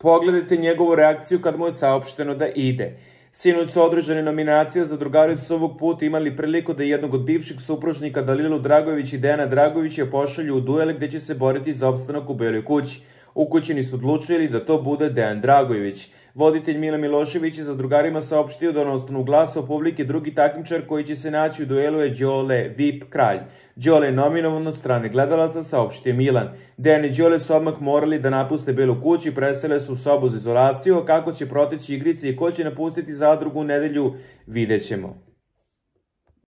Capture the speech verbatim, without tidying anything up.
Pogledajte njegovu reakciju kad mu je saopšteno da ide. Sinoć su održane nominacije za drugaricu su ovog puta imali priliku da jednog od bivših supružnika Dalilu Dragojević i Dejana Dragojevića pošalju u duel gde će se boriti za opstanak u Beloj kući. Ukućani su odlučili da to bude Dejan Dragojević. Voditelj Mila Milošević je za drugarima saopštio da na osnovu glasa publike drugi takmičar koji će se naći u duelu je Đole V I P Kralj. Đole je nominovan od strane gledalaca, saopštio Milan. Dejan i Đole su odmah morali da napuste Belu kuću i presele su u sobu za izolaciju, kako će proteći igrice i ko će napustiti zadrugu u nedelju, vidjet ćemo.